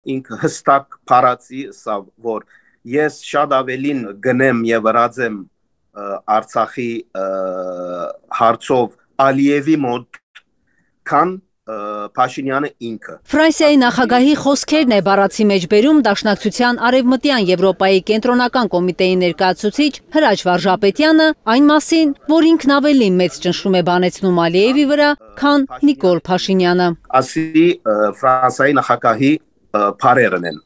ինքը հստակ փարացի սա որ ես շատ ավելին գնեմ եւ վրացեմ Արցախի հարցով Ալիևի մոտ քան Փաշինյանը ինքը։ Ֆրանսիայի նախագահի խոսքերն է բառացի մեջ բերում Դաշնակցության Արևմտյան Եվրոպայի կենտրոնական կոմիտեի ներկայացուցիչ Հրաչ Վարժապետյանը այն մասին, որ ինքն ավելի մեծ ճնշում է բանեցնում Ալիևի վրա, քան Նիկոլ Փաշինյանը։ Ասի Ֆրանսիայի նախագահի փարերն են։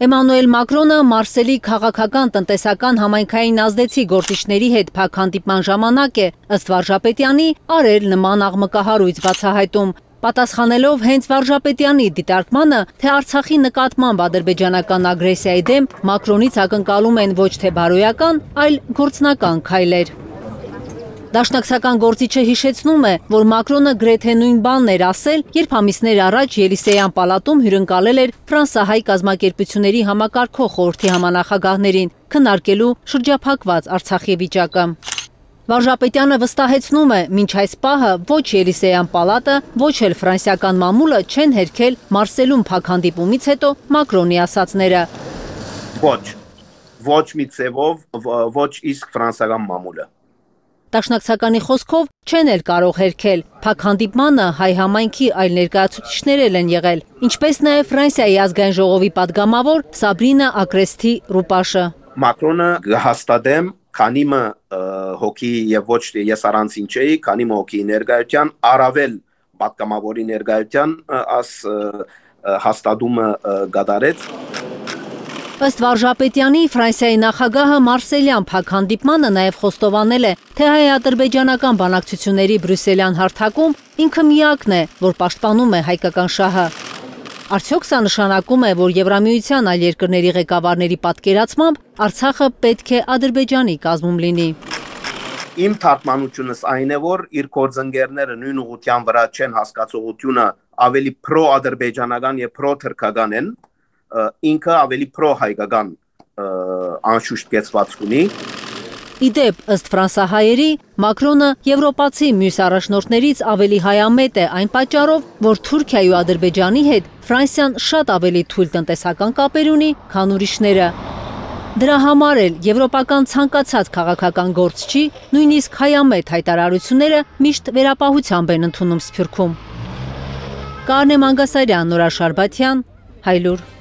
Էմանուել Մակրոնը Մարսելի քաղաքական տնտեսական համայնքային ազդեցիկ գործիչների հետ փակ հանդիպման ժամանակ է, ըստ Վարժապետյանի, արել նման աղմկահարույց բացահայտում, պատասխանելով հենց Վարժապետյանի դիտարկմանը, թե Արցախի նկատմամբ ադրբեջանական ագրեսիայի դեմ Մակրոնից ակնկալում են ոչ թե բարոյական, այլ գործնական քայլեր։ Դաշնակցական գործիչը հիշեցնում է, որ Մակրոնը գրեթե նույն բանն էր ասել, երբ ամիսներ առաջ Ելիսեյան պալատում հյուրընկալել էր ֆրանսահայ կազմակերպությունների համակարգող խորհրդի համանախագահներին, քննարկելու շրջափակված Արցախի վիճակը։ Վարժապետյանը վստահեցնում է, մինչ այս պահը ոչ Ելիսեյան պալատը, ոչ էլ ֆրանսիական մամուլը չեն հերքել Մարսելում փակ հանդիպումից հետո Մակրոնի ասածները։ Ոչ մի ձևով, ոչ իսկ ֆրանսիական մամուլը։ Դաշնակցականի խոսքով չեն էլ կարող հերքել, փակ հանդիպմանը հայ համայնքի այլ ներկայացուցիչներ են եղել, ինչպես նաև Ֆրանսիայի ազգային ժողովի падգամավոր Սաբրինա Ակրեստի Ռուպաշը։ Մակրոնը հաստատեմ, քանի մը հոգի եւ ոչ թե ես առանցին չէի, քանի մը հոգի ներկայության, առավել падգամավորի ներկայության հաստատումը գդարեց։ Ըստ Վարժապետյանի, Ֆրանսիայի նախագահը Մարսելյան փակ հանդիպմանը նաև խոստովանել է, թե հայ-ադրբեջանական բանակցությունների բրյուսելյան հարթակում ինքը միակն է, որ պաշտպանում է հայկական շահը։ Արդյոք սա նշանակում է, որ Եվրամիության այլ երկրների ղեկավարների պատկերացմամբ Արցախը պետք է Ադրբեջանի կազմում լինի։ Իմ թարգմանությունս այն է, որ իր գործընկերները նույն ուղղության վրա չեն, հասկացողությունը ավելի պրո-ադրբեջանական եւ պրո-թուրքական են, ինքը ավելի պրո-հայկական անշուշտ կեցվածք ունի։ Իդեպ, ըստ ֆրանսահայերի, Մակրոնը եվրոպացի մյուս առաջնորդներից ավելի հայամետ է այն պատճառով, որ Թուրքիայի ու Ադրբեջանի հետ Ֆրանսիան շատ ավելի թույլ տնտեսական կապեր ունի, քան ուրիշները։ Դրա համար էլ եվրոպական ցանկացած քաղաքական գործչի, նույնիսկ հայամետ հայտարարությունները միշտ վերապահությամբ են ընդունում Սփյուռքում։ Կարնե Մանգասարյան, Նորա Շարբաթյան, Հայլուր։